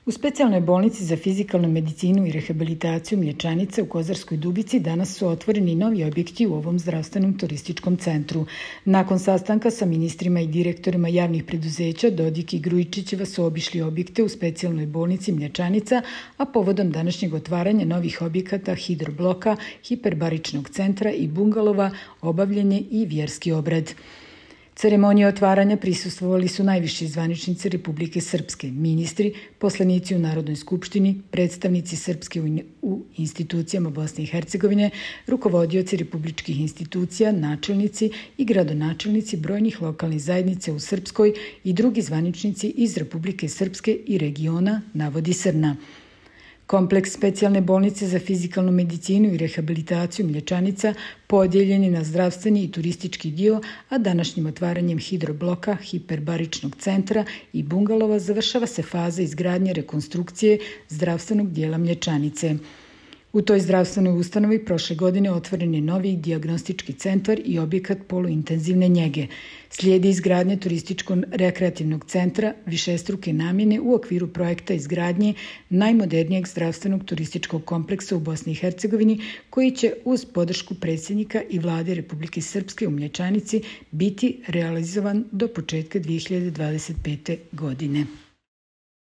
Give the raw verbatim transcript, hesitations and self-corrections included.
U specijalnoj bolnici za fizikalnu medicinu i rehabilitaciju Mlječanica u Kozarskoj Dubici danas su otvoreni novi objekti u ovom zdravstvenom turističkom centru. Nakon sastanka sa ministrima i direktorima javnih preduzeća, Dodik i Grujičićeva su obišli objekte u specijalnoj bolnici Mlječanica, a povodom današnjeg otvaranja novih objekata hidrobloka, hiperbaričnog centra i bungalova obavljen je i vjerski obred. Ceremonije otvaranja prisustvovali su najviši zvaničnici Republike Srpske, ministri, poslanici u Narodnoj skupštini, predstavnici Srpske u institucijama Bosne i Hercegovine, rukovodioci republičkih institucija, načelnici i gradonačelnici brojnih lokalnih zajednica u Srpskoj i drugi zvaničnici iz Republike Srpske i regiona, navodi Srna. Kompleks specijalne bolnice za fizikalnu medicinu i rehabilitaciju Mlječanica podijeljen je na zdravstveni i turistički dio, a današnjim otvaranjem hidrobloka, hiperbaričnog centra i bungalova završava se faza izgradnje rekonstrukcije zdravstvenog dijela Mlječanice. U toj zdravstvenoj ustanovi prošle godine otvoren je novi dijagnostički centar i objekat poluintenzivne njege. Slijedi izgradnje turističko-rekreativnog centra višestruke namjene u okviru projekta izgradnje najmodernijeg zdravstvenog turističkog kompleksa u Bosni i Hercegovini, koji će uz podršku predsjednika i vlade Republike Srpske u Mlječanici biti realizovan do početka dvije hiljade dvadeset pete. godine.